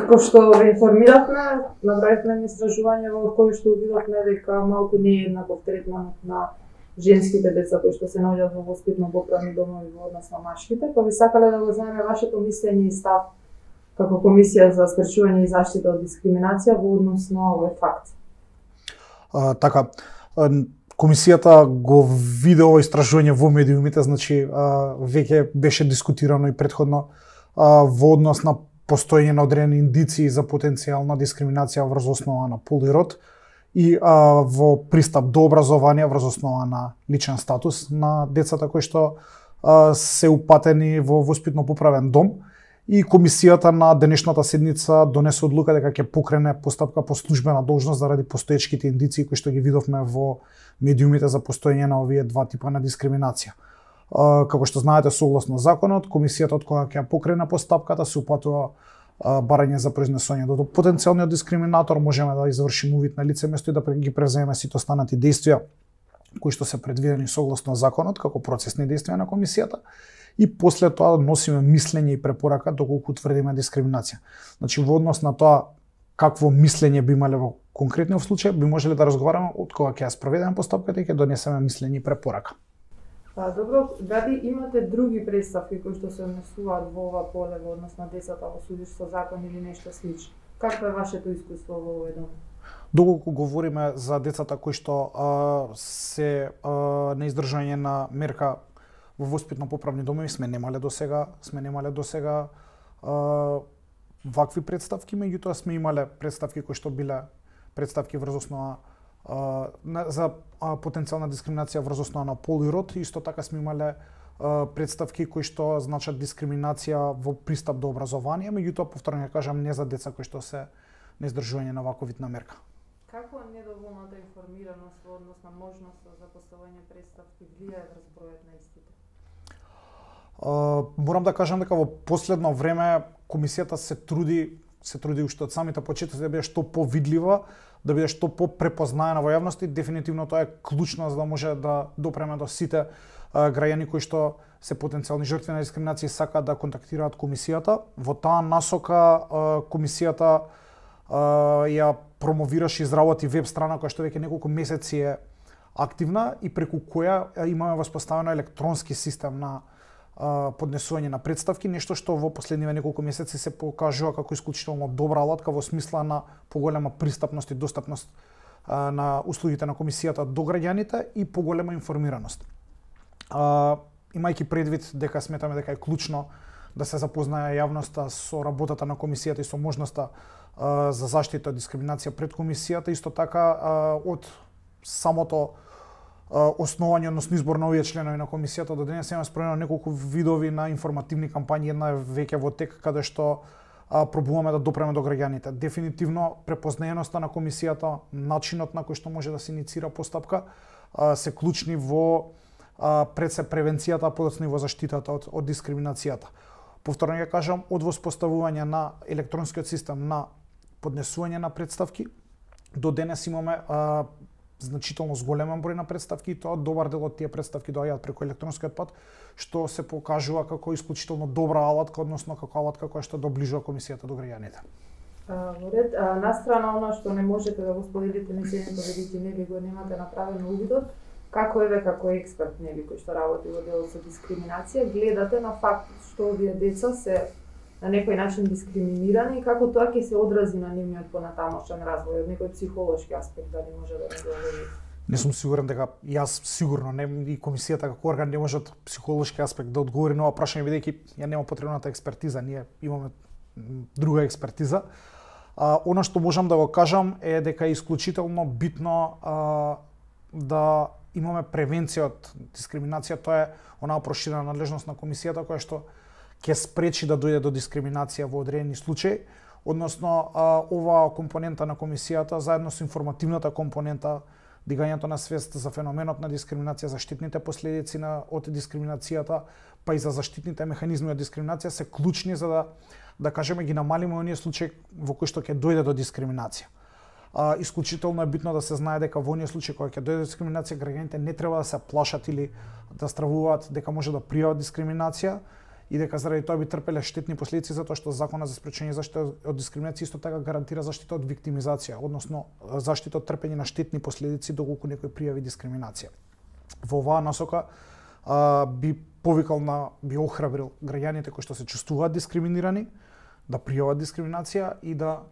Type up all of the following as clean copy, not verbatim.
Како што ве информиравме, направивме истражување во кој што видовме дека малку не е еднаков третманот на женските деца кои што се наоѓаат во воспитно-поправни домови во однос на машките, па би сакале да го знаеме вашето мислење и став како Комисија за спречување и заштита од дискриминација во однос на овој факт. Така, Комисијата го виде ово истражување во медиумите, значи веќе беше дискутирано и претходно во однос на постоење на одредени индиции за потенцијална дискриминација врз основа на пол и род и во пристап до образование врз основа на личен статус на децата кои што се упатени во воспитно-поправен дом. И Комисијата на денешната седница донесе одлука дека ќе покрене постапка по службена должност заради постоечките индиции кои што ги видовме во медиумите за постоење на овие два типа на дискриминација. Како што знаете, согласно законот, Комисијата од кога ќе покрене постапката се упатува барање за произнесување до потенцијалниот дискриминатор, можеме да извршиме увид на лице место и да ги преземеме сите останати действија кои што се предвидени согласно законот како процесни действија на Комисијата. И после тоа носиме мислење и препорака доколку утврдиме дискриминација. Значи во однос на тоа какво мислење би имале во конкретниот случај, би можеле да разговараме од кога ќе ја спроведеме постапката и ќе донесеме мислење и препорака. Добро, дали имате други представки кои што се однесуваат во ова поле во однос на децата во судиштво закон или нешто слично? Какво е вашето искуство во овој дом? Доколку говориме за децата кои што се на издржање на мерка во воспитно-поправни домови, сме немале до сега вакви представки, меѓутоа сме имале представки кои што биле представки врз основа за потенцијална дискриминација врз основа на пол и род. Исто така сме имале представки кои што значат дискриминација во пристап до образование, меѓутоа повторно ќе кажам не за деца кои што се на издржување на ваков вид на мерка. Како недоволната информираност во однос на можноста за поставување представки влијае врз бројот на истите? Морам да кажам дека во последно време Комисијата се труди уште од самите почетоци да биде што повидлива, да биде што попрепознаена во јавност и дефинитивно тоа е клучно за да може да допреме до сите граѓани кои што се потенцијални жртви на дискриминација и сакаат да контактираат Комисијата. Во таа насока Комисијата ја промовираше и изработи веб страна која што веќе неколку месеци е активна и преку која имаме воспоставено електронски систем на поднесување на представки, нешто што во последниве неколку месеци се покажува како исклучително добра алатка во смисла на поголема пристапност и достапност на услугите на Комисијата до граѓаните и поголема информираност. Имајќи предвид дека сметаме дека е клучно да се запознае јавноста со работата на Комисијата и со можноста за заштита од дискриминација пред Комисијата, исто така од самото основање, односно избор на овие членови на Комисијата до денес имаме спроведено неколку видови на информативни кампањи, една е веќе во тек каде што пробуваме да допреме до граѓаните. Дефинитивно препознаеноста на Комисијата, начинот на кој што може да се иницира постапка се клучни во пред се превенцијата, а подоцна и во заштитата од дискриминацијата. Повторно ќе кажам, од воспоставување на електронскиот систем на поднесување на представки до денес имаме значително зголемен број на представки и тоа добар дел од тие представки доаѓаат преку електронскиот пат, што се покажува како исклучително добра алатка, односно како алатка која што доближува Комисијата до граѓаните. Во ред, настрана она што не можете да го споделите мислењето бидејќи нели го немате направено увидот, како еве како експерт нели кој што работи во делот со дискриминација, гледате на факт што овие деца се на некој начин дискриминирани и како тоа ќе се одрази на нивниот понатамошен развој од некој психолошки аспект, дали може да не говори? Не сум сигурен дека јас сигурно не и Комисијата како орган не може од психолошки аспект да одговори на ова прашање бидејќи ја нема потребната експертиза, ние имаме друга експертиза. Она што можам да го кажам е дека е исклучително битно да имаме превенција од дискриминација, тоа е онаа проширена надлежност на Комисијата која што ќе спречи да дојде до дискриминација во одредени случаи, односно оваа компонента на Комисијата заедно со информативната компонента, дигањето на свест за феноменот на дискриминација, заштитните последици од дискриминацијата, па и за заштитните механизми од дискриминација се клучни за да кажеме ги намалиме оние случаи во кои што ќе дојде до дискриминација. Исклучително е битно да се знае дека во оние случаи кога ќе дојде до дискриминација, граѓаните не треба да се плашат или да стравуваат дека може да пријават дискриминација и дека заради тоа би трпеле штетни последици затоа што Законот за спречување и заштита од дискриминација исто така гарантира заштита од виктимизација, односно заштита од трпење на штетни последици доколку некој пријави дискриминација. Во оваа насока би би охрабрил граѓаните кои што се чувствуваат дискриминирани да пријават дискриминација и да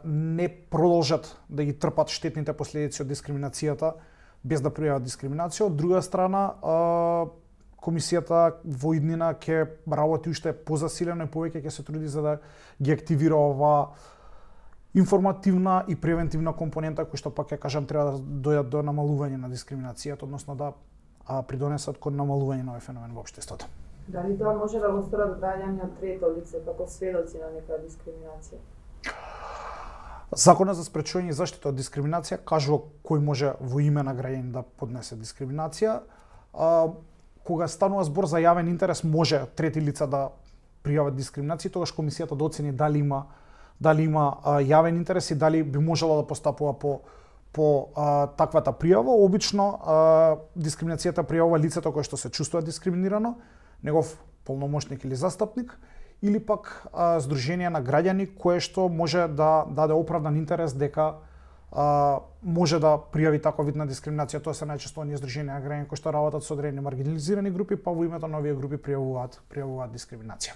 не продолжат да ги трпат штетните последици од дискриминацијата без да пријават дискриминација. Од друга страна, комисијата во иднина ќе работи уште позасилено и повеќе ќе се труди за да ги активира оваа информативна и превентивна компонента кои што пак ќе кажам треба да дојдат до намалување на дискриминацијата, односно да придонесат кон намалување на овој феномен во општеството. Дали тоа може да го сторат граѓани од трето лице како сведоци на некоја дискриминација? Законот за спречување и заштита од дискриминација кажува кој може во име на граѓанин да поднесе дискриминација. Кога станува збор за јавен интерес, може трети лица да пријават дискриминација, тогаш комисијата да оцени дали има јавен интерес и дали би можела да постапува по таквата пријава. Обично дискриминацијата пријавува лицето кое што се чувствува дискриминирано, негов полномошник или застапник, или пак здружение на граѓани кое што може да даде оправдан интерес дека може да пријави таков вид на дискриминација. Тоа се најчесто оние здруженија на граѓани кои што работат со одредени маргинализирани групи, па во името на овие групи пријавуваат дискриминација.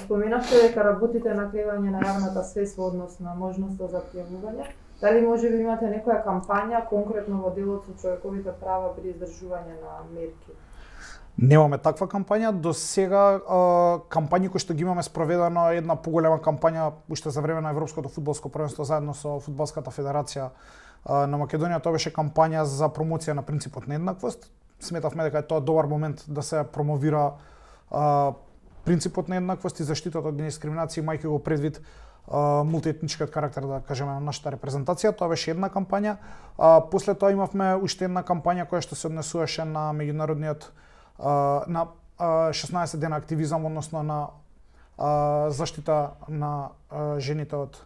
Споменавте дека работите на креирање на јавната свест во однос на можноста за пријавување. Дали може би имате некоја кампања конкретно во делот со човековите права при издржување на мерки? Немаме таква кампања. До сега кампањи кои што ги имаме спроведено една поголема кампања уште за време на Европското фудбалско првенство заедно со Фудбалската федерација на Македонија. Тоа беше кампања за промоција на принципот на еднаквост. Сметавме дека е тоа добар момент да се промовира принципот на еднаквост и заштитата од дискриминација, имајќи го предвид мултиетничкиот карактер, да кажеме, на нашата репрезентација. Тоа беше една кампања. После тоа имавме уште една кампања која што се однесуваше на меѓународниот на 16 дена активизам, односно на заштита на жените од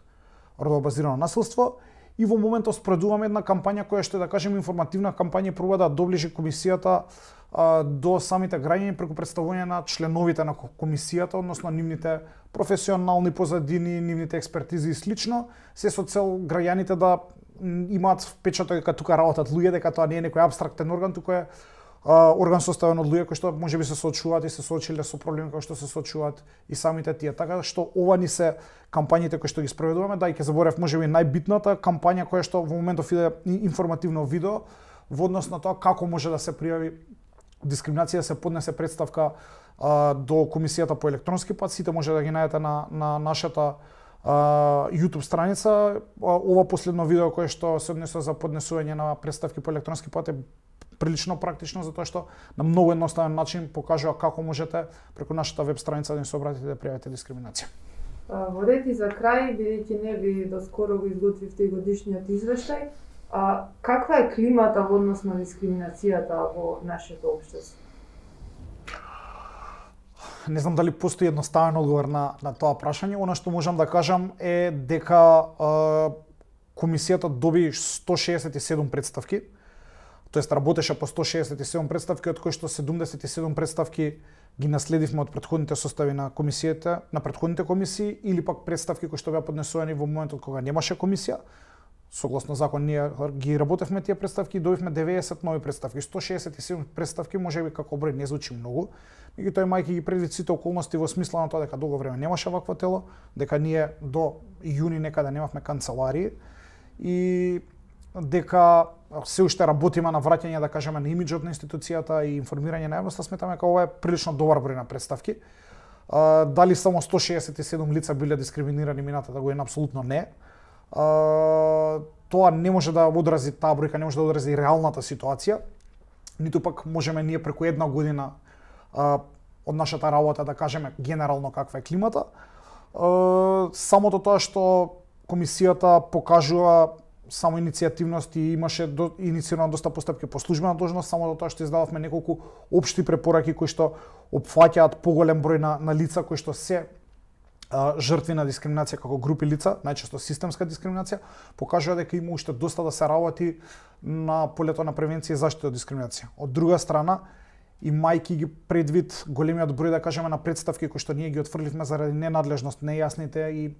родово базирано насилство. И во моментот спроведуваме една кампања која што е, да кажеме, информативна кампања, проба да доближи комисијата до самите граѓани преку представување на членовите на комисијата, односно нивните професионални позадини, нивните експертизи и слично, се со цел граѓаните да имаат впечаток дека тука работат луѓе, дека тоа не е некој апстрактен орган, туку е орган составен од луѓе кои што можеби се соочуваат и се соочиле со проблеми кои што се соочуваат и самите тие. Така што ова ни се кампањите кои што ги спроведуваме. Да, и ќе заборев можеби најбитната кампања која што во моментов иде информативно видео во однос на тоа како може да се пријави дискриминација, се поднесе представка до комисијата по електронски пат. Сите може да ги најдете на нашата YouTube страница. Ова последно видео кое што се однесува за поднесување на представки по електронски пат е прилично практично, затоа што на многу едноставен начин покажува како можете преку нашата веб страница да ни се обратите да пријавите дискриминација. Во ред и за крај, бидејќи не ви доскоро го изготвивте годишниот извештај, каква е климата во однос на дискриминацијата во нашето општество? Не знам дали постои едноставен одговор на тоа прашање. Она што можам да кажам е дека комисијата доби 167 представки, тоест работеше по 167 представки, од кои што 77 представки ги наследивме од претходните состави на комисијата, на претходните комисии, или пак представки кои што беа поднесувани во моментот кога немаше комисија. Согласно закон ние ги работевме тие представки и добивме 90 нови представки. 167 представки можеби како број не звучи многу, меѓутоа имајќи ги предвид сите околности во смисла на тоа дека долго време немаше вакво тело, дека ние до јуни некаде немавме канцеларии и дека се уште работиме на враќање, да кажеме, на имиџот на институцијата и информирање на јавноста, сметаме дека ова е прилично добар број на представки. Дали само 167 лица биле дискриминирани минатата година? Апсолутно не. Тоа не може да одрази, таа бројка не може да одрази реалната ситуација, ниту пак можеме ние преку една година од нашата работа да кажеме генерално каква е климата. Самото тоа што комисијата покажува само иницијативност и имаше инициирано доста постапки по службена должност, само до тоа што издававме неколку општи препораки кои што опфаќаат поголем број на лица кои што се жртви на дискриминација како групи лица, најчесто системска дискриминација, покажува дека има уште доста да се работи на полето на превенција и заштита од дискриминација. Од друга страна, и мајки ги предвид големиот број, да кажеме, на представки кои што ние ги отфрливме заради ненадлежност, нејасните и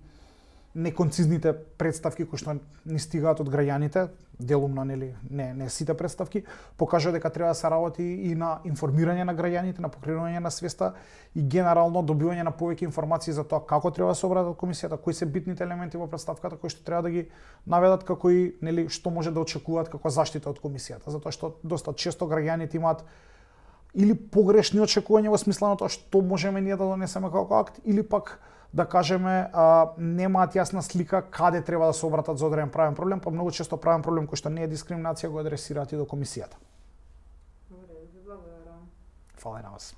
неконцизните представки кои што ни стигаат од граѓаните, делумно, нели, не сите представки, покажува дека треба да се работи и на информирање на граѓаните, на покренување на свеста и генерално добивање на повеќе информации за тоа како треба да се обработат комисијата, кои се битните елементи во представката кои што треба да ги наведат, како и нели што може да очекуваат како заштита од комисијата, затоа што доста често граѓаните имаат или погрешни очекувања во смисла на тоа што можеме ние да донесеме како акт, или пак да кажеме, немаат јасна слика каде треба да се обратат за одреден правен проблем, па многу често правен проблем кој што не е дискриминација го адресираат и до комисијата. Добре, ви благодарам. Фала и на вас.